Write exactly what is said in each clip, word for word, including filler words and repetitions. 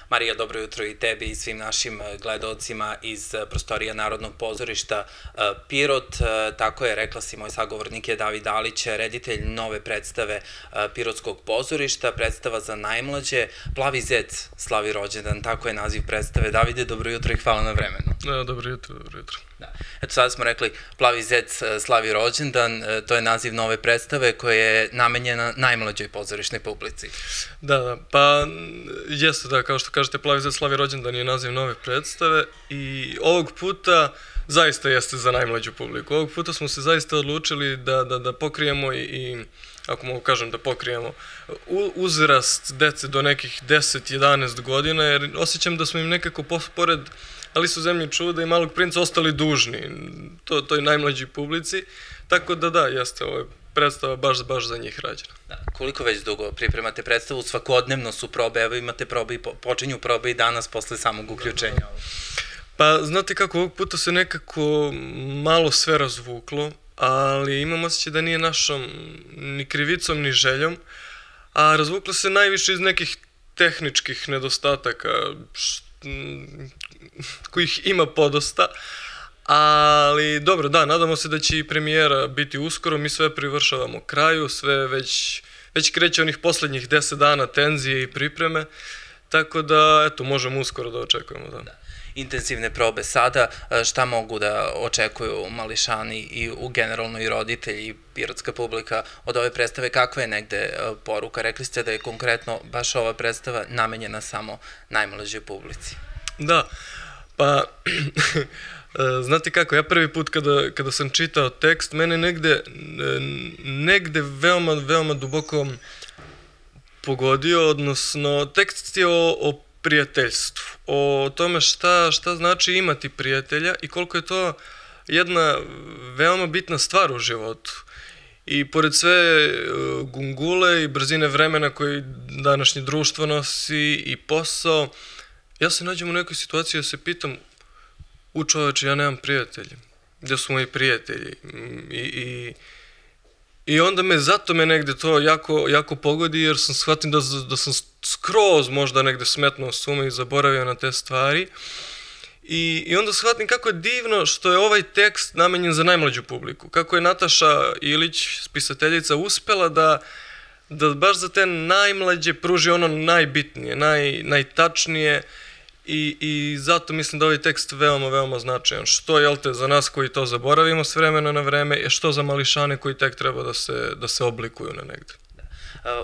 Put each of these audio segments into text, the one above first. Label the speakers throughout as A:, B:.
A: Marija, dobro jutro i tebi i svim našim gledalcima iz prostorija Narodnog pozorišta Pirot. Tako je, rekla si, moj sagovornik je David Dalić, reditelj nove predstave Pirotskog pozorišta, predstava za najmlađe. Plavi zec slavi rođendan, tako je naziv predstave. Davide, dobro jutro i hvala na vremenu.
B: Dobro jutro, dobro jutro.
A: Eto, sada smo rekli Plavi zec slavi rođendan, to je naziv nove predstave koja je namenjena najmlađoj pozorišnoj publici.
B: Da, da, pa jeste da, kao što kažete, Plavi zec slavi rođendan je naziv nove predstave i ovog puta zaista jeste za najmlađu publiku. Ovog puta smo se zaista odlučili da, da, da pokrijemo i, ako mogu kažem da pokrijemo, uzrast dece do nekih deset jedanaest godina, jer osjećam da smo im nekako pored Alisu u zemlji čuda i Malog princa ostali dužni to, toj najmlađoj publici, tako da da, jeste, ovo je predstava baš, baš za njih rađena.
A: Da. Koliko već dugo pripremate predstavu? Svakodnevno su probe, evo imate probe i počinju probe i danas posle samog uključenja.
B: Pa znate kako, ovog puta se nekako malo sve razvuklo, ali imam osjećaj da nije našom ni krivicom ni željom, a razvuklo se najviše iz nekih tehničkih nedostataka, kojih ima podosta, ali dobro, da, nadamo se da će i premijera biti uskoro, mi sve privršavamo kraju, sve već, već kreće onih poslednjih deset dana tenzije i pripreme, tako da, eto, možemo uskoro da očekujemo, da.
A: Da. Intenzivne probe sada, šta mogu da očekuju mališani i u generalno i roditelji i pirotska publika od ove predstave, kakva je negde poruka? Rekli ste da je konkretno baš ova predstava namenjena samo najmlađoj publici.
B: Da, pa znate kako, ja prvi put kada, kada sam čitao tekst, mene negde, negde veoma, veoma duboko pogodio, odnosno tekst je o, o prijateljstvu, o tome šta, šta znači imati prijatelja i koliko je to jedna veoma bitna stvar u životu. I pored sve gungule i brzine vremena koji današnje društvo nosi i posao, ja se nađem u nekoj situaciji da se pitam, u čoveče, ja nemam prijatelje, gde su moji prijatelji? I, i, i onda me, zato me negde to jako, jako pogodi, jer sam shvatim da, da sam skroz možda negde smetnuo s uma i zaboravio na te stvari. I, I onda shvatim kako je divno što je ovaj tekst namenjen za najmlađu publiku. Kako je Nataša Ilić, spisateljica, uspela da, da baš za te najmlađe pruži ono najbitnije, naj, najtačnije. I, I zato mislim da ovaj tekst veoma, veoma značajan. Što, jel te, za nas koji to zaboravimo s vremena na vreme, i što za mališane koji tek treba da se, da se oblikuju na negde.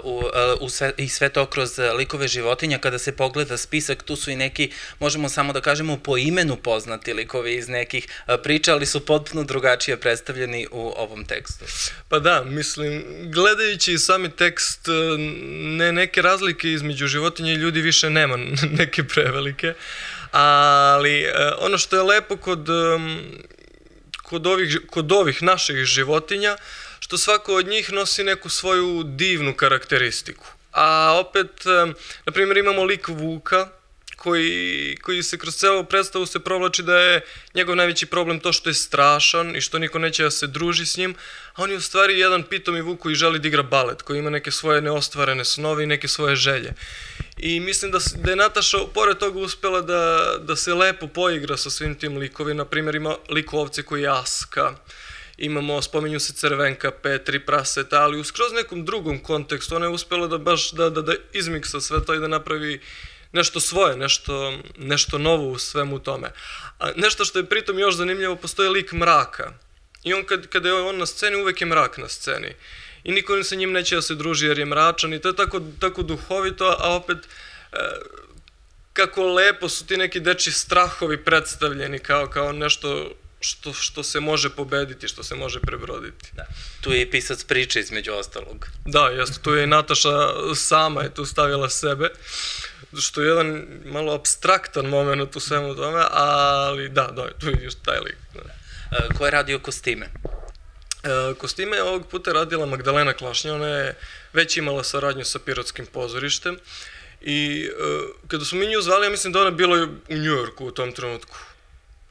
A: U, u sve, i sve to kroz likove životinja, kada se pogleda spisak, tu su i neki, možemo samo da kažemo, po imenu poznati likovi iz nekih priča, ali su potpuno drugačije predstavljeni u ovom tekstu.
B: Pa da, mislim, gledajući sami tekst, ne, neke razlike između životinja i ljudi više nema, neke prevelike, ali ono što je lepo kod, kod, ovih, kod ovih naših životinja, što svako od njih nosi neku svoju divnu karakteristiku. A opet, na primjer, imamo lik Vuka, koji, koji se kroz celu predstavu se provlači da je njegov najveći problem to što je strašan i što niko neće da se druži s njim, a on je u stvari jedan pitomi Vuk koji želi da igra balet, koji ima neke svoje neostvarene snove i neke svoje želje. I mislim da, da je Nataša, pored toga, uspela da, da se lepo poigra sa svim tim likovima. Na primjer, ima lik ovce koji je Aska, imamo, spominju se Crvenka, Petri, Praseta, ali u skroz nekom drugom kontekstu ona je uspela da baš da, da, da izmiksa sve to i da napravi nešto svoje, nešto, nešto novo u svemu tome. A nešto što je pritom još zanimljivo, postoji lik Mraka. I on kad, kada je on na sceni, uvek je mrak na sceni. I niko sa njim neće da se druži jer je mračan i to je tako, tako duhovito, a opet e, kako lepo su ti neki dečji strahovi predstavljeni kao, kao nešto Što, što se može pobediti, što se može prebroditi.
A: Da. Tu je i pisac priče između ostalog.
B: Da, jeste, tu je i Nataša sama je tu stavila sebe, što je jedan malo apstraktan moment u svemu tome, ali da, da, tu je još taj lik. Da.
A: E, ko je radio kostime?
B: E, kostime je ovog puta radila Magdalena Klašnja, ona je već imala saradnju sa Pirotskim pozorištem i e, kada smo mi nju zvali, ja mislim da ona bila u Njujorku u tom trenutku.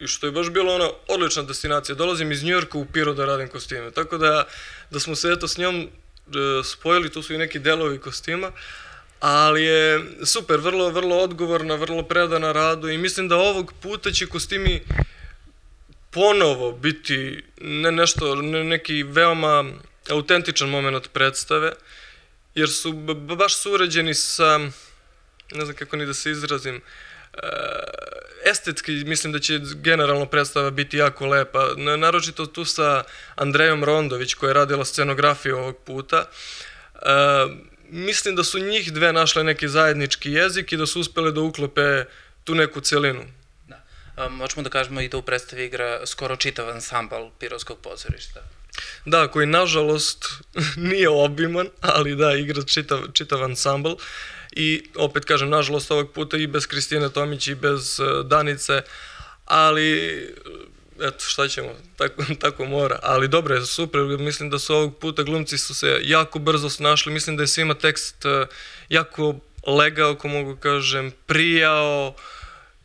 B: I što je baš bila ona odlična destinacija. Dolazim iz Njujorka u Pirot da radim kostime. Tako da, da smo se eto s njom e, spojili, tu su i neki delovi kostima, ali je super, vrlo, vrlo odgovorna, vrlo predana radu i mislim da ovog puta će kostimi ponovo biti ne nešto, ne, neki veoma autentičan moment predstave, jer su baš su urađeni sa, ne znam kako ni da se izrazim, estetski mislim da će generalno predstava biti jako lepa, naročito tu sa Andrejom Rondović koja je radila scenografiju ovog puta. Mislim da su njih dve našle neki zajednički jezik i da su uspele da uklope tu neku celinu.
A: Možemo da kažemo i da u predstavi igra skoro čitav ansambal Pirotskog pozorišta.
B: Da, koji nažalost nije obiman, ali da, igra čitav, čitav ansambl. I opet kažem, nažalost ovog puta i bez Kristine Tomić i bez Danice, ali eto šta ćemo, tako, tako mora. Ali dobro je, super, mislim da su ovog puta glumci su se jako brzo snašli, mislim da je svima tekst jako legao, ako mogu kažem, prijao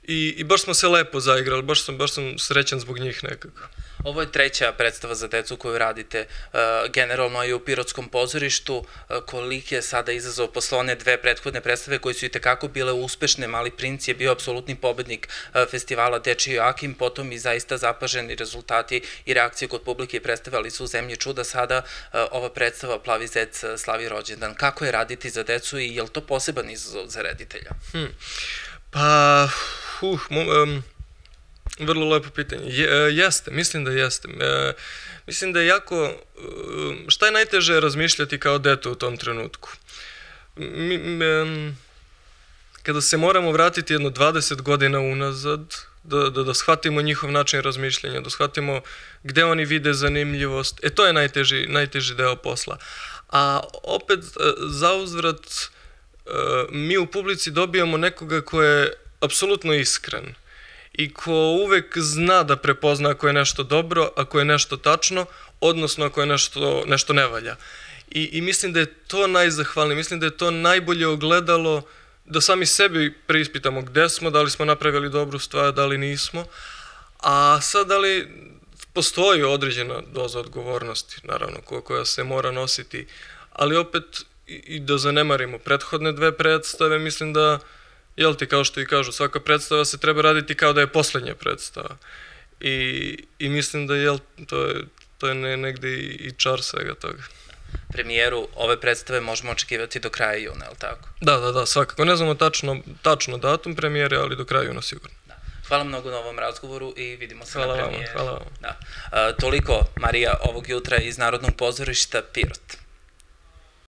B: i, i baš smo se lepo zaigrali, baš sam, baš sam srećan zbog njih nekako.
A: Ovo je treća predstava za decu koju radite generalno i u Pirotskom pozorištu. Koliki je sada izazov posle one dve prethodne predstave koje su i tekako bile uspešne? Mali princ je bio apsolutni pobednik festivala Dečiji Joakim, potom i zaista zapaženi rezultati i reakcije kod publike i predstavali su u Zemlji čuda. Sada ova predstava Plavi zec slavi rođendan. Kako je raditi za decu i je li to poseban izazov za reditelja?
B: Hmm. Pa, uh, um, vrlo lepo pitanje. Jeste, mislim da jeste. Mislim da je jako... Šta je najteže razmišljati kao dete u tom trenutku? Kada se moramo vratiti jedno dvadeset godina unazad, da, da, da shvatimo njihov način razmišljanja, da shvatimo gde oni vide zanimljivost, e to je najteži, najteži deo posla. A opet, zauzvrat, mi u publici dobijamo nekoga ko je apsolutno iskren i ko uvek zna da prepozna ako je nešto dobro, ako je nešto tačno, odnosno ako je nešto, nešto ne valja. I, I mislim da je to najzahvalnije, mislim da je to najbolje ogledalo da sami sebi preispitamo gde smo, da li smo napravili dobru stvar, da li nismo, a sad da li postoji određena doza odgovornosti, naravno, koja se mora nositi, ali opet i da zanemarimo prethodne dve predstave, mislim da, jel ti, kao što i kažu, svaka predstava se treba raditi kao da je poslednja predstava. I, i mislim da, jel, to je, to je negde i, i čar svega toga.
A: Premijeru ove predstave možemo očekivati do kraja juna, je li tako?
B: Da, da, da, svakako. Ne znamo tačno, tačno datum premijere, ali do kraja juna sigurno.
A: Hvala mnogo na ovom razgovoru i vidimo se na premijeri.
B: Hvala vam, hvala vam.
A: Da. Toliko, Marija, ovog jutra iz Narodnog pozorišta Pirot.